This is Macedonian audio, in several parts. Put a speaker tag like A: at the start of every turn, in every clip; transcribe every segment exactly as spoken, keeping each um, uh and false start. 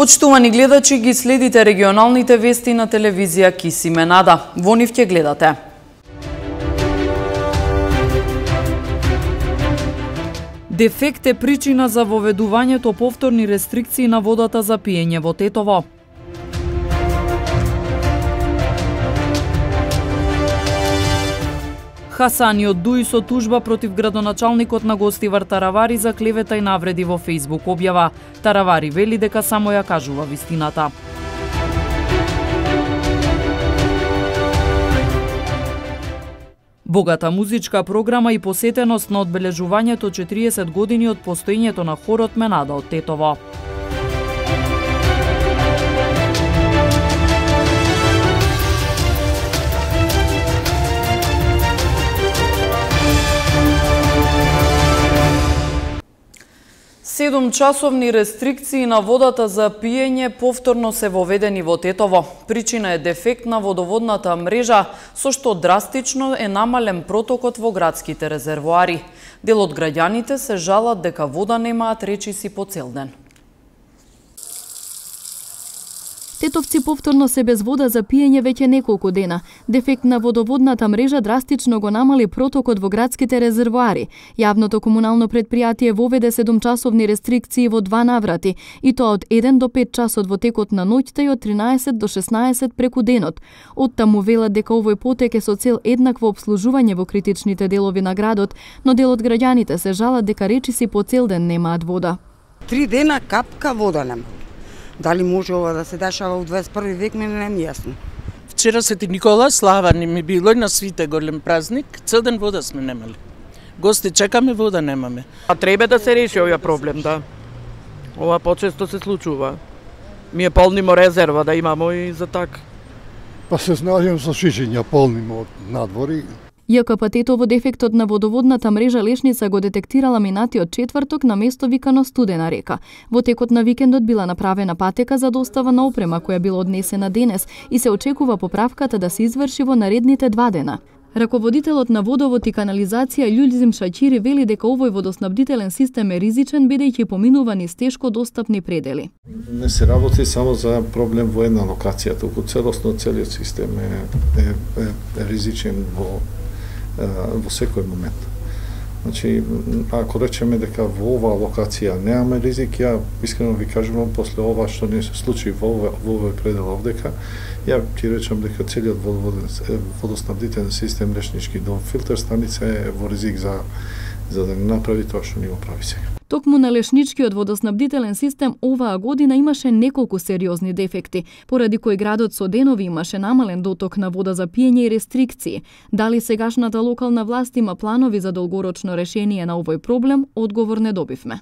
A: Почитувани гледачи, ги следите регионалните вести на телевизија Кисименада. Во нив ќе гледате. Дефект е причина за воведувањето повторни рестрикции на водата за пиење во Тетово. Хасани од Дуи со тужба против градоначалникот на Гостивар Таравари за клевета и навреди во Фејсбук објава. Таравари вели дека само ја кажува вистината. Богата музичка програма и посетеност на одбележувањето четириесет години од постоењето на хорот Менада од Тетово. Седум часовни рестрикции на водата за пиење повторно се воведени во Тетово. Причина е дефект на водоводната мрежа, со што драстично е намален протокот во градските резервоари. Дел од граѓаните се жалат дека вода немаат речиси по цел ден.
B: Тетовци повторно се без вода за пиење веќе неколку дена. Дефект на водоводната мрежа драстично го намали протокот во градските резервоари. Јавното комунално предпријатие воведе седумчасовни рестрикции во два наврати, и тоа од еден до пет часот во текот на ноќта и од тринаесет до шеснаесет преку денот. Оттаму велат дека овој потек е со цел еднакво обслужување во критичните делови на градот, но дел од граѓаните се жалат дека речиси по цел ден немаат вода.
C: Три дена капка вода нема. Дали може ова да се дешава во дваесет и први век, мене не ми јасно.
D: Вчера Свети Никола слава ни ми било и на свите голем празник, цел ден вода сме немали. Гости чекаме, вода немаме.
E: А треба да се реши овој проблем, да. Ова почесто се случува. Ми е полнимо резерва да имамо и за така.
F: Па се снаѓам со шишиња полнимо од надвори.
B: ЈКП Тетово дефектот на водоводната мрежа Лешница го детектирала минатиот четврток на место викано Студена река. Во текот на викендот била направена патека за достава на опрема која била однесена денес и се очекува поправката да се изврши во наредните два дена. Раководителот на водовод и канализација Љулзим Шаќири вели дека овој водоснабдителен систем е ризичен бидејќи поминува низ тешко достапни предели.
G: Не се работи само за проблем во една локација, туку целосно целиот систем е, е, е, е ризичен во во секој момент. Значи, ако речеме дека во оваа локација немаме ризик, ја искрено ви кажувам, после ова што не се случи во овој предел овдека, ја ти речам дека целиот водоснабдителен систем Лешнички до филтер станица е во ризик за за да не направи тоа што ни го прави сега.
B: Токму на Лешничкиот водоснабдителен систем оваа година имаше неколку сериозни дефекти, поради кои градот со денови имаше намален доток на вода за пиење и рестрикции. Дали сегашната локална власт има планови за долгорочно решение на овој проблем, одговор не добивме.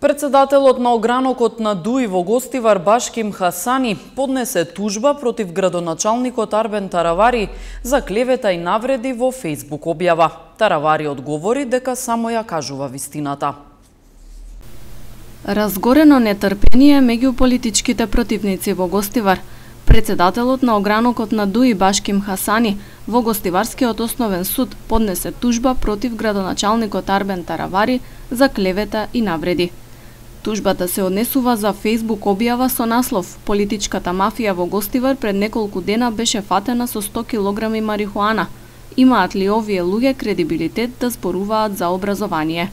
A: Председателот на огранокот на Дуи во Гостивар Башким Хасани поднесе тужба против градоначалникот Арбен Таравари за клевета и навреди во Фејсбук објава. Таравари одговори дека само ја кажува вистината.
H: Разгорено нетрпение меѓу политичките противници во Гостивар. Председателот на огранокот на Дуи Башким Хасани во Гостиварскиот основен суд поднесе тужба против градоначалникот Арбен Таравари за клевета и навреди. Тужбата се однесува за Фејсбук објава со наслов «Политичката мафија во Гостивар пред неколку дена беше фатена со сто килограми марихуана. Имаат ли овие луѓе кредибилитет да зборуваат за образование?»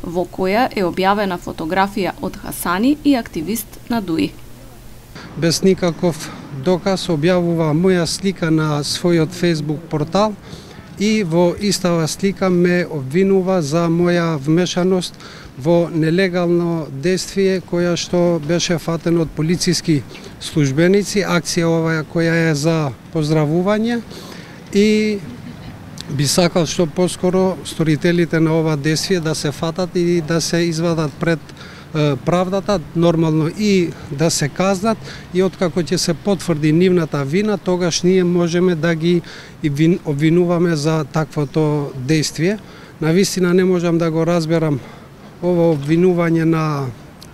H: Во која е објавена фотографија од Хасани и активист на Дуи.
I: Без никаков доказ објавува моја слика на својот Фејсбук портал и во истава слика ме обвинува за моја вмешаност во нелегално действие која што беше фатено од полициски службеници, акција оваа која е за поздравување, и би сакал што поскоро сторителите на ова действие да се фатат и да се извадат пред правдата, нормално и да се казнат, и откако ќе се потврди нивната вина, тогаш ние можеме да ги обвинуваме за таквото действие. Навистина не можам да го разберам ова обвинување на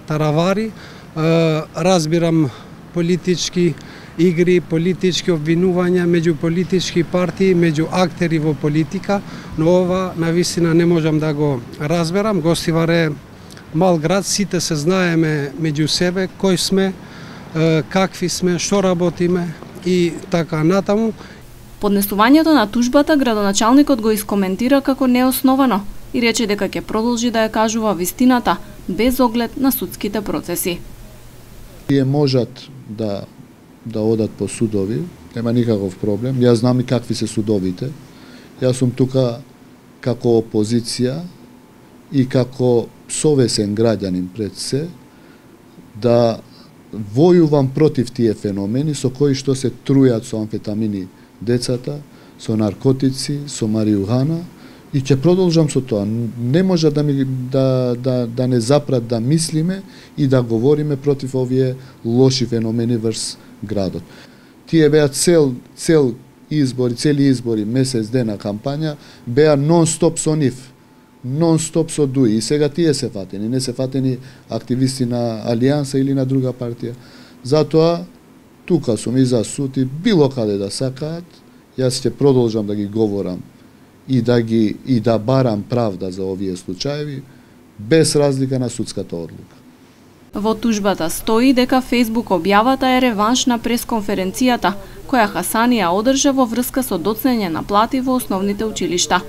I: Таравари. Разбирам политички игри, политички обвинувања меѓу политички партии, меѓу актери во политика, но ова навистина не можам да го разберам. Гостивар е мал град, сите се знаеме меѓу себе, кој сме, какви сме, што работиме и така натаму.
H: Поднесувањето на тужбата градоначалникот го искоментира како неосновано и рече дека ќе продолжи да ја кажува вистината без оглед на судските процеси.
G: Тие можат да да одат по судови, нема никаков проблем. Јас знам и какви се судовите. Јас сум тука како опозиција и како совесен граѓанин пред се да војувам против тие феномени со кои што се трујат со амфетамини децата, со наркотици, со маријуана и ќе продолжам со тоа. Не може да ми да да да не запрат да мислиме и да говориме против овие лоши феномени врз градот. Тие беа цел цел избори, цели избори, месец дена кампања беа нон-стоп со нив. Нон-стоп со ДУИ. И сега тие се фатени, не се фатени активисти на Алијанса или на друга партија. Затоа тука сум и за суд и било каде да сакаат, јас ќе продолжам да ги говорам и да ги и да барам правда за овие случаеви без разлика на судската одлука.
H: Во тужбата стои дека Facebook објавата е реванш на пресконференцијата која Хасани ја одржа во врска со доцнење на плати во основните училишта.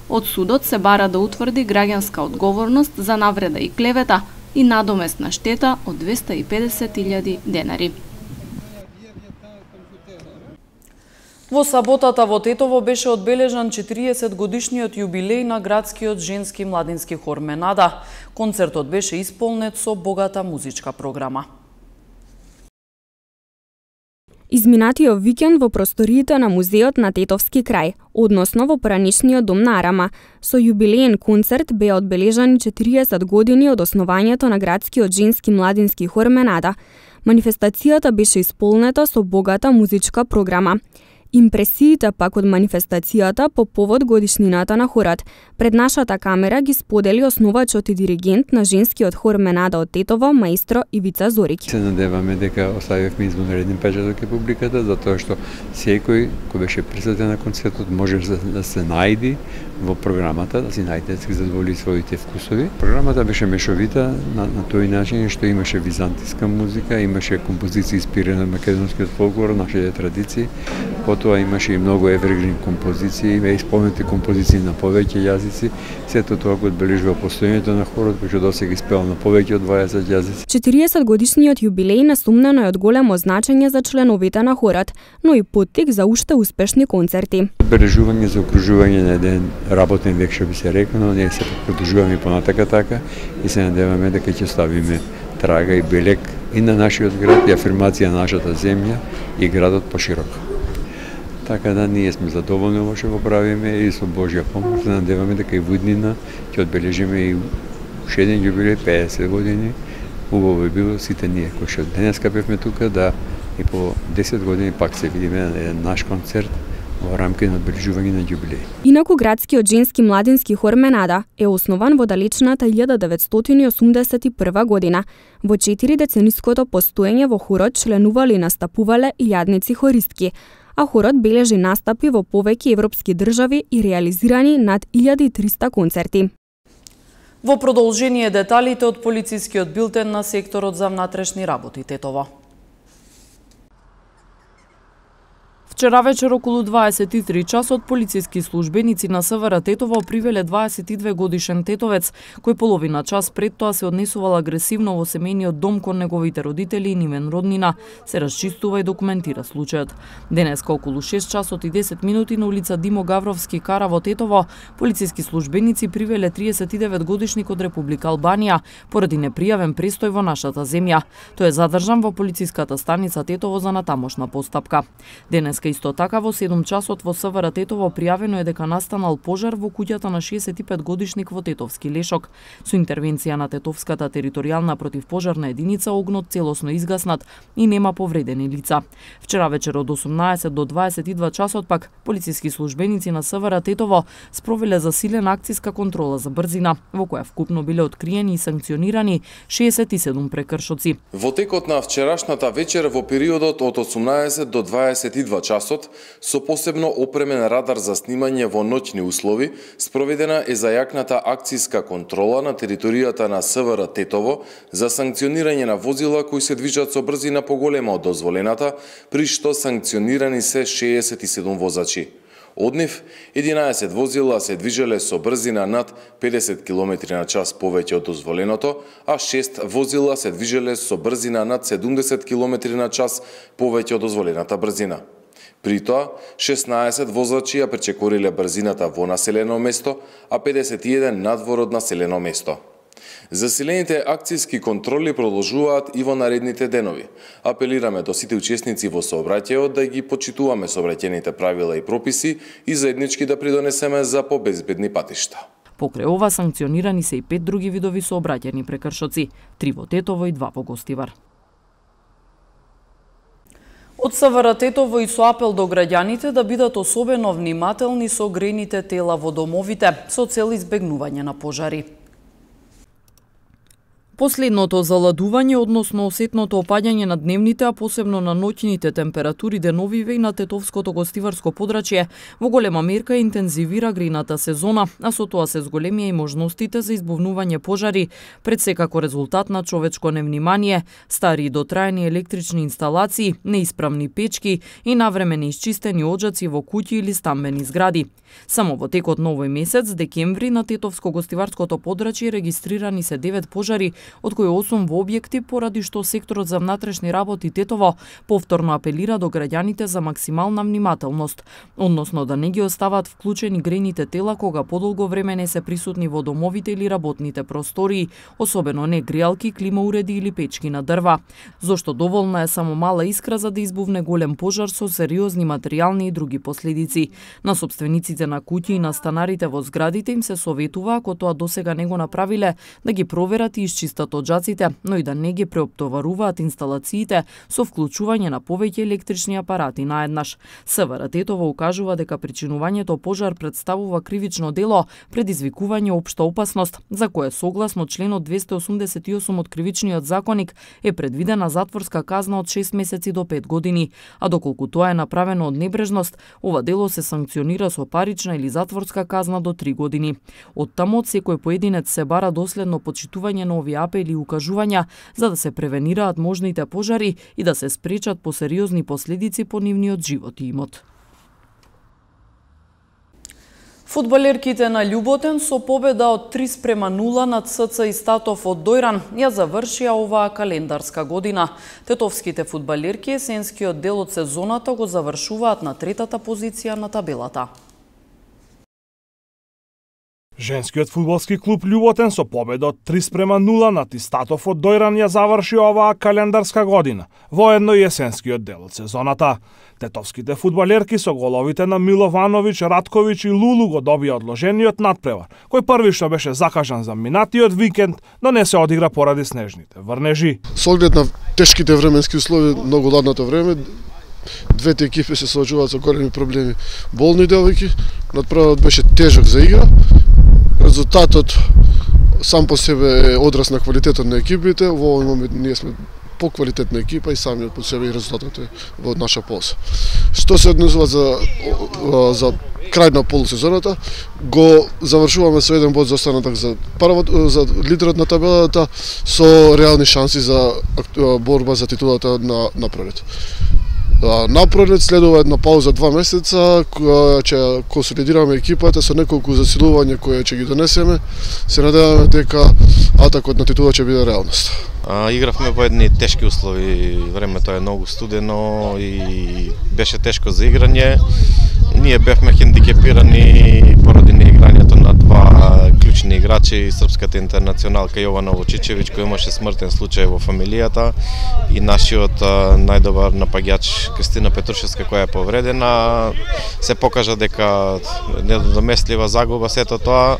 H: Од судот се бара да утврди граѓанска одговорност за навреда и клевета и надоместна штета од двесте и педесет илјади денари.
A: Во саботата во Тетово беше одбележан четириесет годишниот јубилеј на градскиот женски младински хор Менада. Концертот беше исполнет со богата музичка програма.
J: Изминатиот викенд во просториите на музеот на Тетовски крај, односно во поранишниот дом на Арама, со јубилеен концерт беа одбележани четириесет години од основањето на градскиот женски младински хор Менада. Манифестацијата беше исполнета со богата музичка програма. Импресиите пак од манифестацијата по повод годишнината на хорот пред нашата камера ги сподели основачот и диригент на женскиот хор Менада од Тетово, маестро Ивица Зориќ.
K: Се надеваме дека оставивме извонреден печат од публиката, затоа што секој кој беше присутен на концертот може да се најди во програмата, да си најде да си задоволи своите вкусови. Програмата беше мешовита на, на тој начин што имаше византиска музика, имаше композиции инспирирани од македонскиот фолклор, нашите традиции. Потоа имаше и многу евергрин композиции, и исполнети композиции на повеќе јазици. Сето тоа го одбележува постоењето на хорот, кој што досега испеал на повеќе од дваесет јазици.
J: четириесет годишниот јубилеј несумнено е од големо значење за членовите на хорот, но и поттик за уште успешни концерти.
K: Одбележување за окружување на еден работен век, што би се рекено, ние се продолжуваме понатака така и се надеваме дека ќе ставиме трага и белег и на нашиот град и афирмација на нашата земја и градот пошироко. Така да ние сме задоволни во што го правиме и со Божја помош се надеваме дека и во иднина ќе одбележиме и уште еден јубилеј, педесет години. Убаво би било сите ние кои што денеска бевме тука да и по десет години пак се видиме на еден наш концерт во рамки на одбележување на јубилеј.
J: Инаку градскиот женски младински хор Менада е основан во далечната илјада деветстотини и осумдесет и прва година. Во четири децениското постоење во хорот членувале и настапувале илјадници хористки, а хорот бележи настапи во повеќе европски држави и реализирани над илјада и триста концерти.
A: Во продолжение деталите од полицискиот билтен на секторот за внатрешни работи Тетово. Вчера вечер околу дваесет и три часот полициски службеници на СВР Тетово привеле дваесет и две годишен тетовец, кој половина час пред тоа се однесувал агресивно во семејниот дом кон неговите родители и нимен роднина, се расчистува и документира случајот. Денеска околу шест часот и десет минути на улица Димо Гавровски Кара во Тетово, полициски службеници привеле триесет и девет годишник од Република Албанија поради непријавен престој во нашата земја. Тој е задржан во полициската станица Тетово за натамошна постапка. Денеска исто така во седум часот во СВР Тетово пријавено е дека настанал пожар во куќата на шеесет и пет годишник во Тетовски Лешок. Со интервенција на Тетовската територијална противпожарна единица огнот целосно изгаснат и нема повредени лица. Вчера вечер од осумнаесет до дваесет и два часот пак полициски службеници на СВР Тетово спровеле засилена акциска контрола за брзина, во која вкупно биле откриени и санкционирани шеесет и седум прекршоци.
L: Во текот на вчерашната вечер во периодот од осумнаесет до дваесет и два часа часот со посебно опремен радар за снимање во ноќни услови, спроведена е зајакната акцијска контрола на територијата на СВР Тетово за санкционирање на возила кои се движат со брзина поголема од дозволената, при што санкционирани се шеесет и седум возачи. Од нив, единаесет возила се движеле со брзина над педесет километри на час повеќе од дозволеното, а шест возила се движеле со брзина над седумдесет километри на час повеќе од дозволената брзина. При тоа, шеснаесет возачи ја пречекориле брзината во населено место, а педесет и еден надвор од населено место. Засилените акцијски контроли продолжуваат и во наредните денови. Апелираме до сите учесници во сообраќајот да ги почитуваме сообраќајните правила и прописи и заеднички да придонесеме за побезбедни патишта.
A: Покрај ова санкционирани се и пет други видови сообраќајни прекршоци, три во Тетово и два во Гостивар. Од СВР Тетово и со апел до граѓаните да бидат особено внимателни со грените тела во домовите, со цел избегнување на пожари. Последното заладување, односно осетното опаѓање на дневните, а посебно на ноќните температури деновиве и на тетовското гостиварско подрачје, во голема мерка интензивира грејната сезона, а со тоа се зголемија и можностите за избувнување пожари, пред секако резултат на човечко невнимание, стари и дотраени електрични инсталации, неисправни печки и навреме неисчистени оджаци во куќи или стамбени згради. Само во текот на овој месец, декември, на тетовско гостиварското подрачје регистрирани се девет пожари, од кои осум во објекти, поради што секторот за внатрешни работи Тетово повторно апелира до граѓаните за максимална внимателност, односно да не ги остават вклучени грејните тела кога подолго време не се присутни во домовите или работните простории, особено не греалки, климауреди или печки на дрва, зошто доволна е само мала искра за да избувне голем пожар со сериозни материјални и други последици. На сопствениците на куќи и на станарите во зградите им се советува, ако тоа досега не го направиле, да ги проверат и изчистат оджаците, но и да не ги преоптоваруваат инсталациите со вклучување на повеќе електрични апарати наеднаш. СВР Тетово укажува дека причинувањето пожар представува кривично дело, предизвикување општа опасност, за кое согласно членот двесте осумдесет и осум од Кривичниот законник е предвидена затворска казна од шест месеци до пет години, а доколку тоа е направено од небрежност, ова дело се санкционира со парична или затворска казна до три години. Оттаму од секој поединец се бара доследно почитување на овие апели и укажувања за да се превенираат можните пожари и да се спречат посериозни последици по нивниот живот и имот. Фудбалерките на Љуботен со победа од три спрема нула над СЦ Истатов од Дојран ја завршија оваа календарска година. Тетовските фудбалерки есенскиот дел од сезоната го завршуваат на третата позиција на табелата.
M: Женскиот фудбалски клуб Љуботен со победа од три спрема нула над Истатов од Дојран ја заврши оваа календарска година, воедно и есенскиот дел од сезоната. Тетовските фудбалерки со головите на Миловановиќ, Радковиќ и Лулу го добија одложениот надпревар, кој првично беше закажан за минатиот викенд, но не се одигра поради снежните врнежи.
F: Со оглед на тешките временски услови, многу ладното време, двете екипи се соочуваат со големи проблеми. Болни девојки, надпреварот беше тежок за игра. Резултатот сам по себе е одраз на квалитетот на екипите. Во овој момент ние сме поквалитетна екипа и самиот по себе и резултатот е во наша полза. Што се однесува за за крај на полусезоната, го завршуваме со еден бод за останаток за првот за лидерот на табелата со реални шанси за борба за титулата на напред. Напред следува една пауза два месеца, која ќе консолидираме екипата со неколку засилувања кои ќе ги донесеме. Се надеваме дека атакот на титула ќе биде реалност.
N: А, игравме во едни тешки услови, времето е многу студено и беше тешко за играње. Ние бевме хендикепирани поради неиграњето на два клучни играчи, српската интернационалка Јована Лучичевиќ, кој имаше смртен случај во фамилијата, и нашиот најдобар напаѓач Кристина Петрушевска, која е повредена. Се покажа дека недоместлива загуба сето тоа.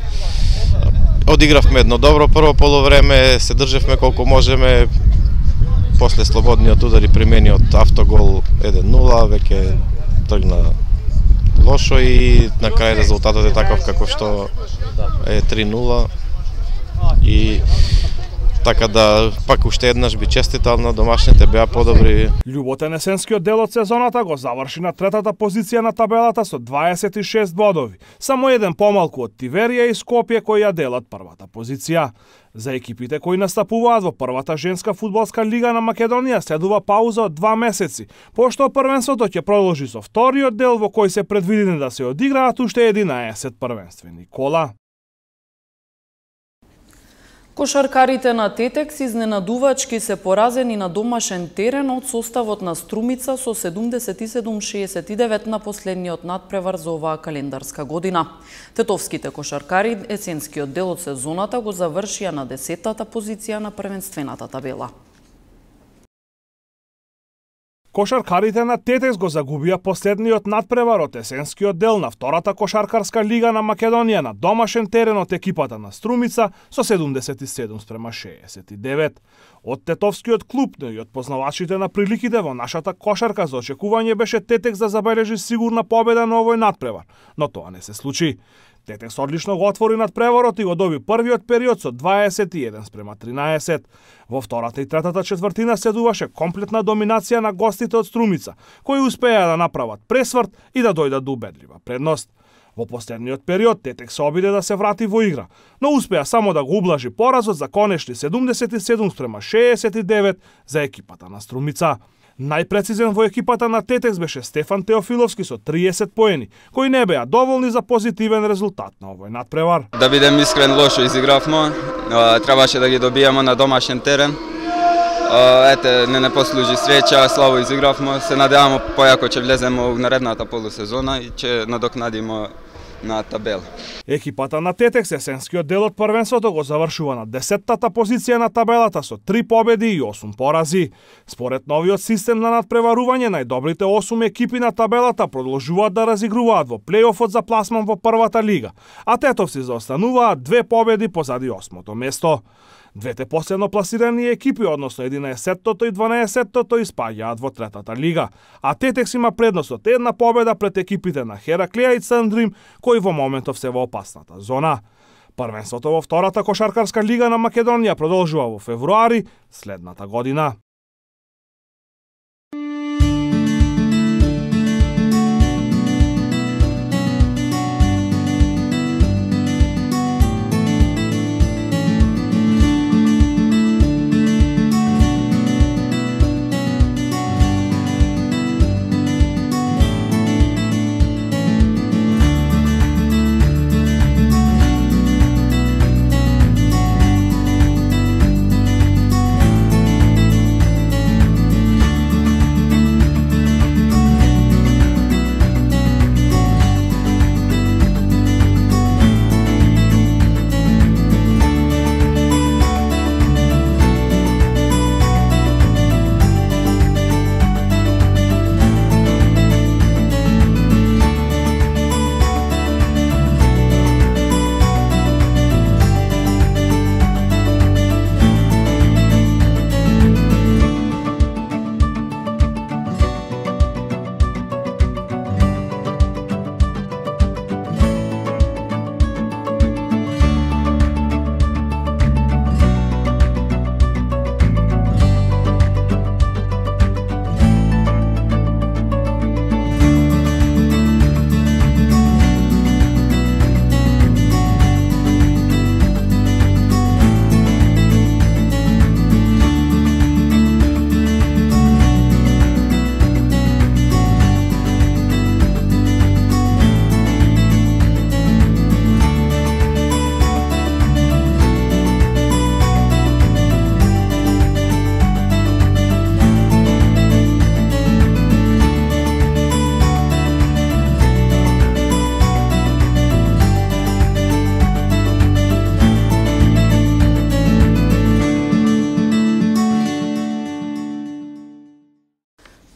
N: Одигравме едно добро прво полувреме, се држевме колку можеме. После слободниот удар и примениот автогол еден нула, веќе тргна лошо и на крај резултатот е таков каков што е три нула. И Така да пак уште еднаш би честитал на домашните, беа подобри.
M: Љуботен есенскиот дел од сезоната го заврши на третата позиција на табелата со дваесет и шест бодови, само еден помалку од Тиверија и Скопје кои ја делат првата позиција. За екипите кои настапуваат во првата женска фудбалска лига на Македонија следува пауза од два месеци, пошто првенството ќе продолжи со вториот дел во кој се предвидени да се одиграат уште единаесет првенствени кола.
A: Кошаркарите на Тетекс изненадувачки се поразени на домашен терен од составот на Струмица со седумдесет и седум шеесет и девет на последниот надпревар за оваа календарска година. Тетовските кошаркари есенскиот дел од сезоната го завршија на десеттата позиција на првенствената табела.
M: Кошаркарите на Тетекс го загубија последниот надпревар од есенскиот дел на втората кошаркарска лига на Македонија на домашен терен од екипата на Струмица со седумдесет и седум спрема шеесет и девет. Од тетовскиот клуб, но и од познавачите на приликите во нашата кошарка за очекување беше Тетекс да забележи сигурна победа на овој надпревар, но тоа не се случи. Тетекс одлично го отвори надпреварот и го доби првиот период со дваесет и еден спрема тринаесет. Во втората и третата четвртина следуваше комплетна доминација на гостите од Струмица, кои успеа да направат пресврт и да дојдат до убедлива предност. Во последниот период Тетекс се обиде да се врати во игра, но успеа само да го ублажи поразот за конечни седумдесет и седум спрема шеесет и девет за екипата на Струмица. Најпрецизен во екипата на Тетекс беше Стефан Теофиловски со триесет поени, кои не беа доволни за позитивен резултат на овој надпревар.
O: Да бидем искрен, лошо изигравме, требаше да ги добиеме на домашен терен. Ете, не не послужи среќа, слабо изигравме, се надеваме појако ќе влеземе во наредната полусезона и ќе надокнадиме на табела.
M: Екипата на Тетекс есенскиот дел од првенството го завршува на десеттата позиција на табелата со три победи и осум порази. Според новиот систем на надпреварување, најдобрите осум екипи на табелата продолжуваат да разигруваат во плејофот за пласман во првата лига, а тетовци заостануваат две победи позади осмото место. Двете последно пласирани екипи, односно единаесеттото и дванаесеттото, испаѓаат во третата лига, а Тетекс има предност од една победа пред екипите на Хераклија и Цандрим, кои во моментов се во опасната зона. Првенството во втората кошаркарска лига на Македонија продолжува во февруари следната година.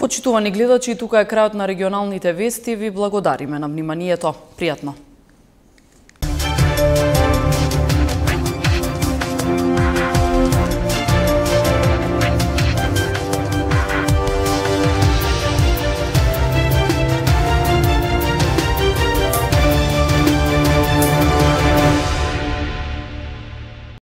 A: Почитувани гледачи, тука е крајот на регионалните вести. Ви благодариме на вниманието. Пријатно.